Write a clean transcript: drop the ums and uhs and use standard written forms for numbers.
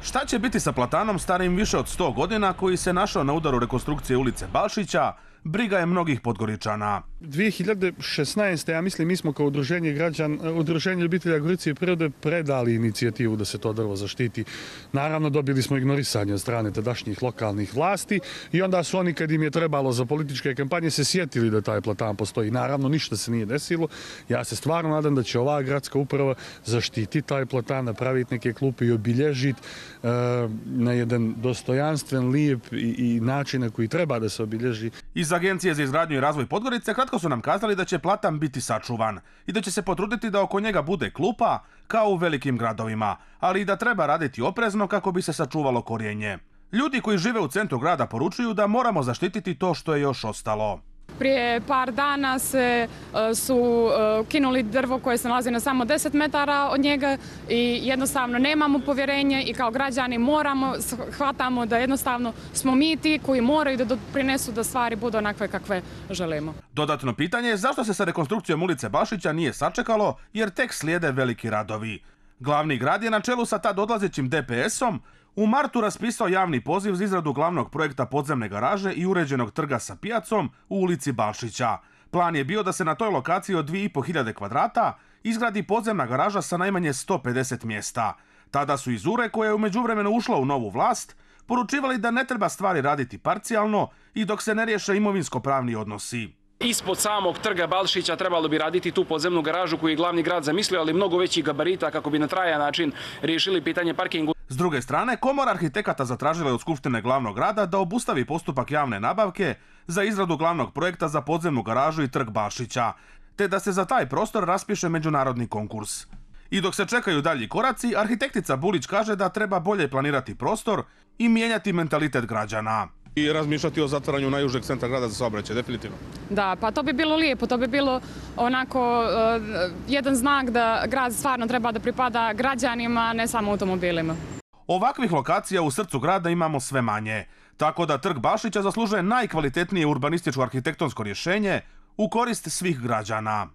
Šta će biti sa platanom starim više od 100 godina koji se našao na udaru rekonstrukcije ulice Balšića, briga je mnogih Podgoričana. 2016. ja mislim mi smo kao udruženje ljubitelja Gorice i prirode predali inicijativu da se to drvo zaštiti. Naravno dobili smo ignorisanje od strane tadašnjih lokalnih vlasti i onda su oni kad im je trebalo za političke kampanje se sjetili da taj platan postoji. Naravno ništa se nije desilo. Ja se stvarno nadam da će ova gradska uprava zaštiti taj platan, napraviti neke klupe i obilježiti na jedan dostojanstven, lijep i način na koji treba da se obilježi. Iz Agencije za izgradnju i razvoj Podgorice kratko su nam kazali da će platan biti sačuvan i da će se potruditi da oko njega bude klupa kao u velikim gradovima, ali i da treba raditi oprezno kako bi se sačuvalo korijenje. Ljudi koji žive u centru grada poručuju da moramo zaštititi to što je još ostalo. Prije par dana su kinuli drvo koje se nalazi na samo 10 metara od njega i jednostavno nemamo povjerenje i kao građani shvatamo da jednostavno smo mi ti koji moraju da doprinesu da stvari budu onakve kakve želimo. Dodatno pitanje je zašto se sa rekonstrukcijom ulice Balšića nije sačekalo jer tek slijede veliki radovi. Glavni grad je na čelu sa tad odlazećim DPS-om u martu raspisao javni poziv za izradu glavnog projekta podzemne garaže i uređenog trga sa pijacom u ulici Balšića. Plan je bio da se na toj lokaciji od 2500 kvadrata izgradi podzemna garaža sa najmanje 150 mjesta. Tada su iz URE, koja je u međuvremenu ušla u novu vlast, poručivali da ne treba stvari raditi parcijalno i dok se ne riješe imovinsko-pravni odnosi. Ispod samog trga Balšića trebalo bi raditi tu podzemnu garažu koju je glavni grad zamislio, ali mnogo većih gabarita kako bi na trajan način riješili pitanje parkingu. S druge strane, Komora arhitekata zatražila je od Skupštine glavnog grada da obustavi postupak javne nabavke za izradu glavnog projekta za podzemnu garažu i trg Balšića, te da se za taj prostor raspiše međunarodni konkurs. I dok se čekaju dalji koraci, arhitektica Bulić kaže da treba bolje planirati prostor i mijenjati mentalitet građana. I razmišljati o zatvaranju najužeg centra grada za saobraćaj, definitivno. Da, pa to bi bilo lijepo, to bi bilo onako jedan znak da grad stvarno treba da pripada građanima, ne samo automobilima. Ovakvih lokacija u srcu grada imamo sve manje, tako da trg Balšića zaslužuje najkvalitetnije urbanističko arhitektonsko rješenje u korist svih građana.